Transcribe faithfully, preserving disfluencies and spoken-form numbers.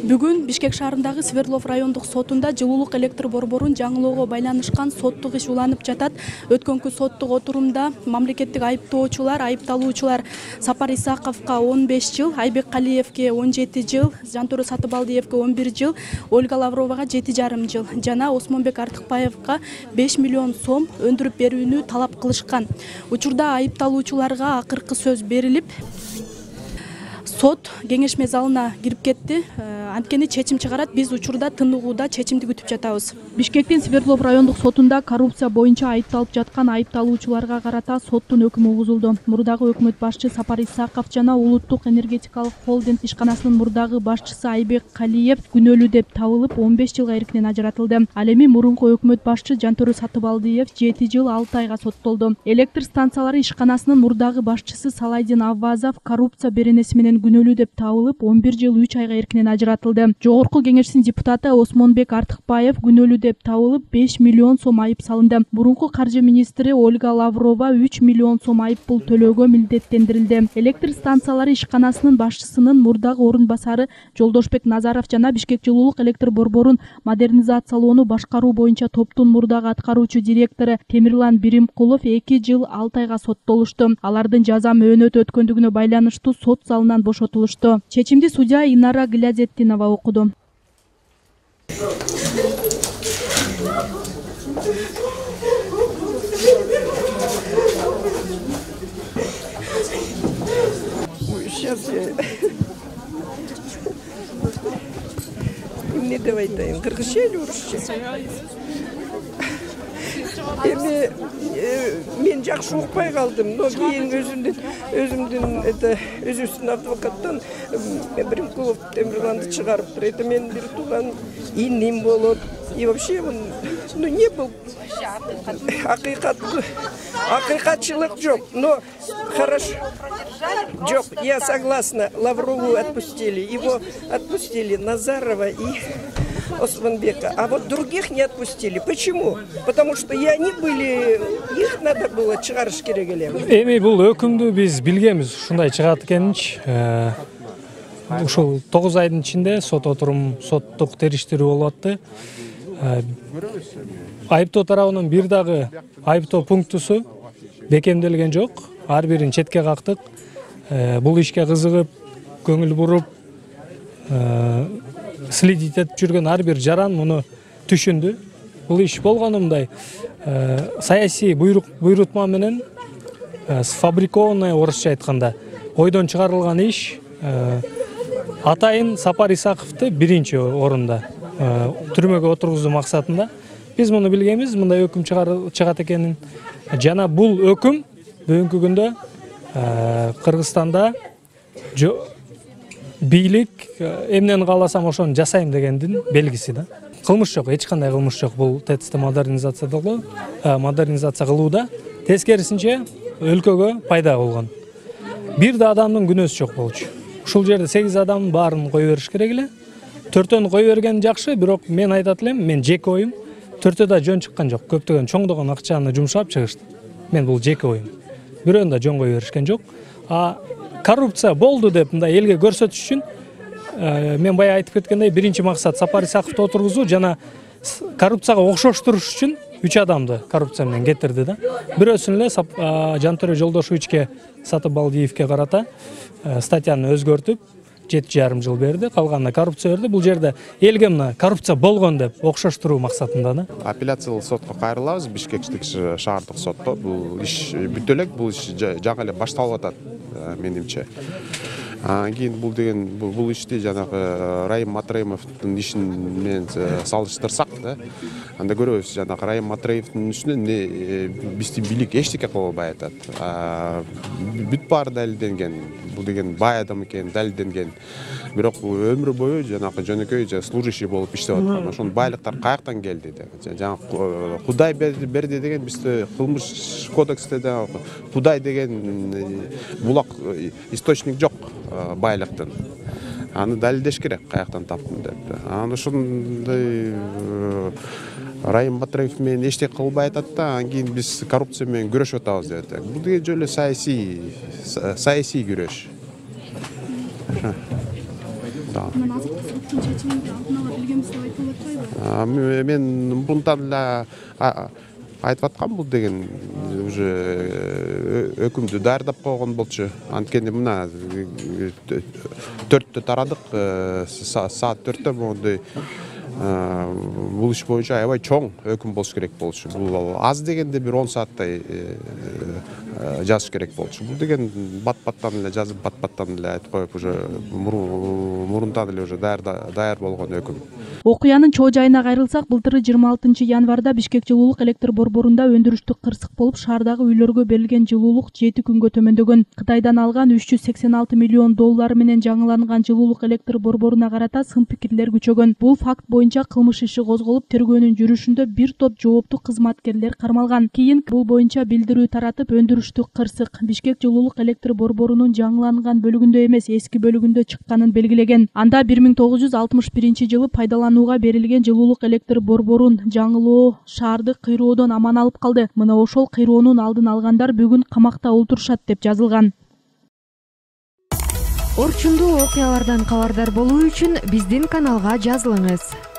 Бүгүн Бишкек шаарындагы Свердлов райондук сотунда жылуулук электр борборун жаңылоого байланышкан соттук иш уланып жатат. Өткөнкү соттук отурумда мамлекеттик айыптоочулар, айыпталуучулар Сапар Исаковго он беш жыл, Айбек Калиевге он жети жыл, Жантөрө Сатыбалдиевге он бир жыл, Ольга Лавровага жети жарым жыл жана Осмонбек Артыкбаевга беш миллион сом өндүрүп берүүнү талап кылышкан. Учурда айыпталуучуларга акыркы сөз берилип, сот кеңешме залына кирип кетти. Анткени чечим чыгарат. Биз учурда тыныгууда чечимди күтүп жатабыз. Бишкектин Свердлов райондук сотунда коррупция боюнча айыпталып жаткан айыпталуучуларга карата соттун өкүмү угузулду. Мурдагы өкмөт башчы Сапар Исаков жана Улуттук энергетикалык холдинг ишканасынын мурдагы башчысы Айбек Калиев күнөөлүү деп табылып он беш жылга эркинен ажыратылды. Ал эми мурунку өкмөт башчы Жантөрө Сатыбалдиев жети жыл алты айга соттолду. Электр станциялары ишканасынын мурдагы башчысы Салайдин Аввазов коррупция беренеси менен күнөөлүү деп табылып он бир жыл үч айга эркинен ажыратылды. Жогорку кеңештин депутаты Осмонбек Артыкбаев күнөөлүү деп табылып беш миллион сом айып салынды. Мурунку каржы министри Ольга Лаврова үч миллион сом айып пул төлөөгө милдеттендирилди. Электр станциялары ишканасынын башчысынын мурдагы орун басары Жолдошбек Назаров жана Бишкек жылуулук электр борборун модернизациялоону башкаруу боюнча топтун мурдагы аткаруучу директору Темирлан Биримкулов эки жыл алты айга соттолушту. Алардын жаза мөөнөтү өткөндүгүнө байланыштуу сот залынан бошотулушту. Чечимди судья Инара Глязеттинова окуду. Сейчас я не давай айтайын, кыргызча эле орусча. Эми мен жакшы укпай калдым, но кийин өзүмдүн өзүмдүн это өзүбүздүн адвокаттан Биримкулов Темирланды чыгарыптыр. Это мен бир тууган иним болот. И вообще он ну не был акыйкат акыйкатчылык жок, но хорошо. Жок, я согласна. Лаврову отпустили, его отпустили, Назарова и Осмонбека, а вот других не отпустили. Почему? Потому что и они были, их надо было чыгарыш керек эле. Эми бул өкүмдү биз билгенбиз, ушундай чыгат экенинчи. Ушул тогуз айдын ичинде сот отурум, соттук териштирүү болуп атты. Айыптоо тарабынан бир дагы айыптоо пунктусу бекемделген жок. Ар бирин четке кактык. Бул ишке кызыгып, көңүл буруп, следить этип жүргөн ар бир жаран муну түшүндү. Бул иш болгону мындай саясий буйрук буйрутма менен сфабрикованный, орусча айтканда, ойдон чыгарылган иш. Атайын Сапар Исаковду биринчи орунда түрмөгө отургузуу максатында биз муну билгенбиз, мындай өкүм чыгат экенин. Жана бул өкүм бүгүнкү күндө Кыргызстанда бийлик эмнени кааласам ошону жасайм дегендин белгиси да. Кылмыш жок, эч кандай кылмыш жок бул ТЭЦти модернизациялоо, модернизация кылууда. Тескерисинче өлкөгө пайда болгон. Бир да адамдын күнөөсү жок болчу. Ушул жерде сегиз адамдын баарын кое бериш керек эле. Төртөөнү кое берген жакшы, бирок мен айтат элем, мен жеке оюм, төртөө да жөн чыккан жок. Көптөгөн чоңдогон акчаны жумшап чыгышты. Мен бул жеке оюм. Бирөөнү да жөн кое беришкен жок. А коррупция болду деп мындай элге көрсөтүш үчүн мен бая айтып кеткендей биринчи максат Сапар Исаковду отургузуу жана коррупцияга окшоштуруш үчүн үч адамды коррупция менен кетирди да. Бирөөсүн эле Жантөрө Жолдошевичке Сатыбалдиевке карата статьяны өзгөртүп жети жарым жыл берди, калганына коррупция берди. Бул жерде элге мына коррупция болгон деп окшоштуруу максатында да. Апелляциялык сотко кайрылабыз, Бишкектик шаардык сотто. Бул иш бүтө элек, бул иш жаңы эле башталып атат менимче. Кийин бул деген бул ишти жанагы Райым Матраимовдун ишин менен салыштырсак да, анда көрөбүз жанагы Райым Матраимовдун ишинен биздин бийлик эчтеке кыла албай атат. Бүт баары далилденген. Бул деген бай адам экени далилденген. Бирок өмүр бою жанагы жөнөкөй служащий болуп иштеп аткан. Ошонун байлыктар каяктан келди деп. Жанагы Кудай берди деген бизде кылмыш кодексте да Кудай деген булак источник жок байлыктын. Аны далилдеш керек, каяктан таптым деп. Аны ошондой Райым Матраев менен эчтеке кылбай атат да, анан кийин биз коррупция менен күрөшүп атабыз деп атат. Бул деген жөн эле саясий саясий күрөш. баштаган. Мына азыркы соттун чечиминди алдын ала билгенбиз деп айтылып атпайбы? Мен мурунтан эле айтып аткам, бул деген уже өкүмдү даярдап койгон болчу. Анткени мына төрттө тарадык, саат төрттө моундай бул иш боюнча аябай чоң өкүм болуш керек болчу. Бул аз дегенде бир он сааттай жазыш керек болчу. Бул деген бат-баттан эле жазып, бат-баттан эле айтып коюп, уже мурунтан эле уже даяр даяр болгон өкүм. Окуянын чоо жайына кайрылсак, былтыры жыйырма алтынчы январда Бишкек жылуулук электр борборунда өндүрүштүк кырсык болуп, шаардагы үйлөргө берилген жылуулук жети күнгө төмөндөгөн. Кытайдан алган үч жүз сексен алты миллион доллар менен жаңыланган жылуулук электр борборуна карата сын пикирлер күчөгөн. Бул факт боюнча кылмыш иши козголуп, тергөөнүн жүрүшүндө бир топ жооптуу кызматкерлер кармалган. Кийин бул боюнча билдирүү таратып, өндүрүштүк кырсык Бишкек жылуулук электр борборунун жаңыланган бөлүгүндө эмес, эски бөлүгүндө чыкканын белгилеген. Анда бир миң тогуз жүз алтымыш биринчи жылы пайдаланууга берилген жылуулук электр борборун жаңылоо шаарды кыйроодон аман алып калды. Мына ошол кыйроонун алдын алгандар бүгүн камакта олтурушат деп жазылган. Орчундуу окуялардан кабардар болуу үчүн биздин каналга жазылыңыз.